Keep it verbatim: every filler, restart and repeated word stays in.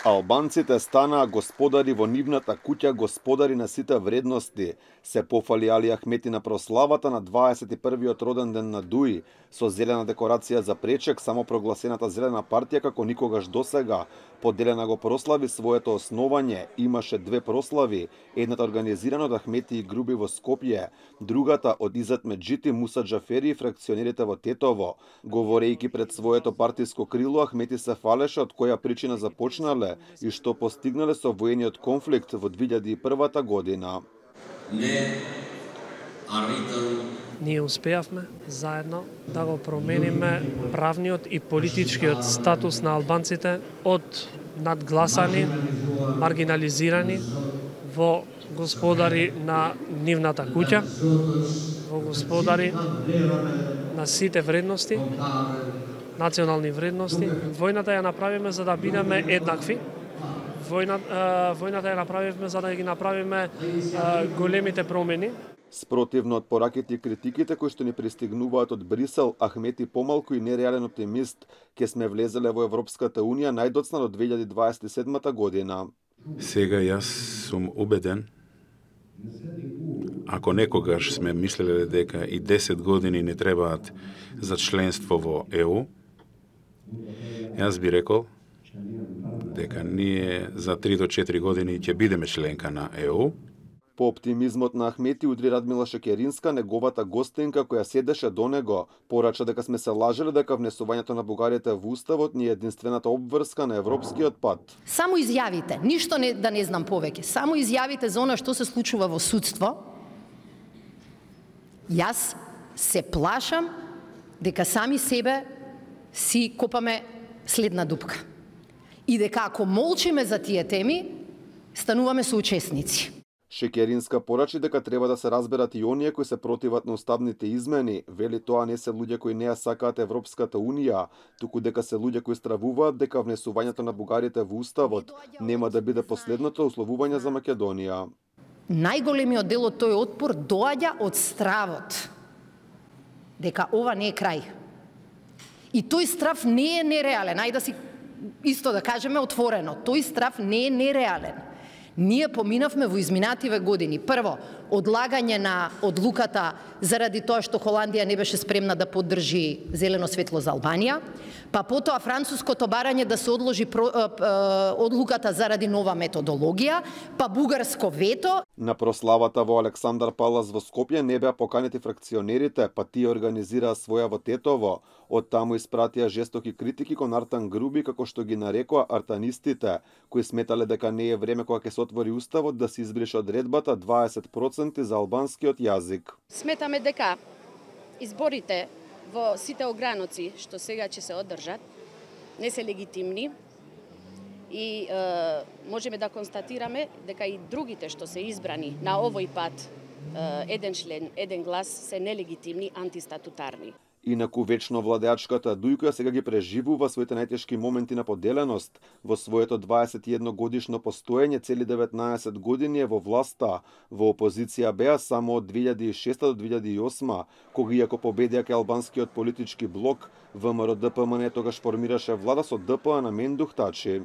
Албанците станаа господари во нивната куќа, господари на сите вредности, се пофали Али Ахмети на прославата на дваесет и првиот роден ден на Дуи, со зелена декорација за пречек, само прогласената зелена партија како никогаш досега. Поделена го прослави своето основање, имаше две прослави, едната организирана од Ахмети и Груби во Скопје, другата од Изет Меджити, Муса Џафери и фракционерите во Тетово. Говорејќи пред своето партиско крило, Ахмети се фалеше од која причина започнале и што постигнале со воениот конфликт во две илјади и првата година. Не, Ние успеавме заедно да го промениме правниот и политичкиот статус на албанците од надгласани, маргинализирани во господари на нивната куќа, во господари на сите вредности, национални вредности. Војната ја направиме за да бидеме еднакви. Војната, војната ја направивме за да ги направиме големите промени. Спротивно од пораките и критиките кои што ни пристигнуваат од Брисел, Ахмети помалку и нереален оптимист, ке сме влезеле во Европската Унија најдоцна до две илјади дваесет и седма година. Сега јас сум убеден, ако некогаш сме мислеле дека и десет години не требаат за членство во ЕУ, јас би рекол дека ние за три до четири години ќе бидеме членка на ЕУ. По оптимизмот на Ахмети удри Радмила Шекеринска, неговата гостинка која седеше до него, порача дека сме се лажеле дека внесувањето на бугарите во уставот ни е единствената обврска на европскиот пат. Само изјавите, ништо не, да не знам повеќе, само изјавите за она што се случува во судство. Јас се плашам дека сами себе си копаме следна дупка. И дека ако молчиме за тие теми, стануваме соучесници. Шекеринска порачи дека треба да се разберат и оние кои се противат на уставните измени. Вели тоа не се луѓе кои не ја сакаат Европската Унија, туку дека се луѓе кои стравуваат дека внесувањето на бугарите во уставот нема да биде последното условување за Македонија. Најголемиот дел од тој отпор доаѓа од стравот дека ова не е крај. И тој страв не е нереален. Ајде да си исто да кажеме отворено. Тој страв не е нереален. Ние поминавме во изминативе години. Прво, одлагање на одлуката заради тоа што Холандија не беше спремна да поддржи зелено светло за Албанија, па потоа француското барање да се одложи про, е, е, одлуката заради нова методологија, па бугарско вето. На прославата во Александар Палас во Скопје не беа поканети фракционерите, па тие организираа своја во Тетово. Од таму испратија жестоки критики кон Артан Груби, како што ги нарекоа артанистите, кои сметале дека не е време кога ќе се отвори уставот да се избрише одредбата дваесет проценти за албанскиот јазик. Сметаме дека изборите во сите ограноци што сега ќе се одржат не се легитимни и е, можеме да констатираме дека и другите што се избрани на овој пат е, еден член, еден глас се нелегитимни, антистатутарни. Инаку вечно владеачката Дујка сега ги преживува своите најтешки моменти на поделеност. Во своето дваесет и едно годишно постоење цели деветнаесет години е во власта. Во опозиција беа само од две илјади и шеста до две илјади и осма, кога иако победија кај албанскиот политички блок, ВМРО ДПМН тогаш формираше влада со ДПА на Мендух Тачи.